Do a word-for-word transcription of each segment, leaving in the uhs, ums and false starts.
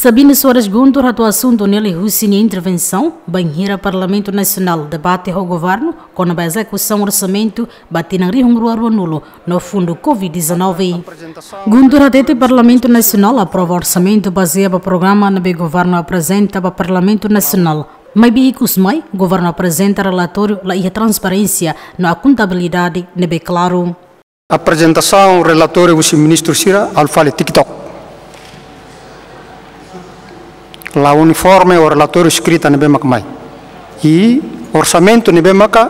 Sabino Soares Guntur hato'o asuntu ne'e liuhusi nia intervensaun bainhira Parlamentu Nasionál debate ho Governu kona-ba ezekusaun orsamentu ba tinan rihun rua rua-nulu no fundu covid dezanove. Guntur hatete Parlamentu Nasionál aprova orsamentu bazeia ba programa ne'ebé Governu aprezenta ba Parlamentu Nasionál. Maibé ikus mai, Governu aprezenta relatóriu la iha transparénsia no akontabilidade ne'ebé klaru. Aprezentasaun relatóriu husi ministru sira, ha'u fali TikTok. La uniforme ho relatóriu eskrita ne'ebé maka mai. I orsamentu ne'ebé maka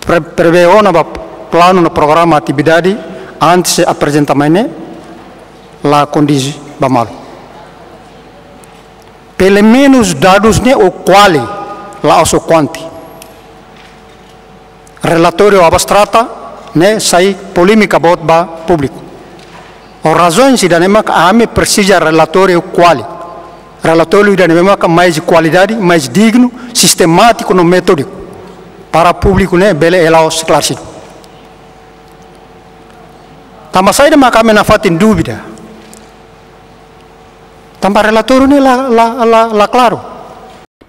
pre-, prevee ona ba planu no programa atividade antes aprezenta mai ne'e la kondiz ba malu. Pelumenus dadus ne'e ho kuali, la'ós ho kuanti. Relatóriu abstrata ne'e sai polémika boot ba públiku. Ho razaun ida-ne'e maka ami presiza relatóriu kuali. Relatóriu ida-ne'e maka mais kualidade, mais dignu, sistemátiku no metódiku. Para públiku ne'e bele hela esklaresidu. Tanba saida maka ami nafatin dúvida? Tanba relatóriu ne'e la, la, la, la klaru.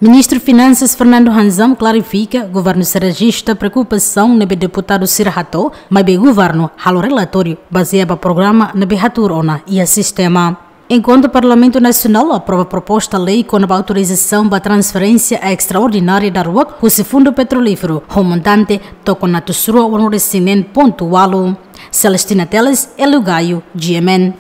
Ministru Finansas Fernando Hanzam klarifika, Governu sei rejista preokupasaun ne'ebé deputadu sira hato'o, maibé Governu halo relatóriu bazeia ba programa ne'ebé hatuur ona iha sistema. Enkuantu Parlamentu Nasionál aprova proposta lei kona-ba autorizasaun ba transferénsia estraordinária daruak husi Fundu Petrolíferu ho montante tokon atus rua walu-nulu-resin-neen pontu walu. Celestina Teles, Elio Gaio, G M N.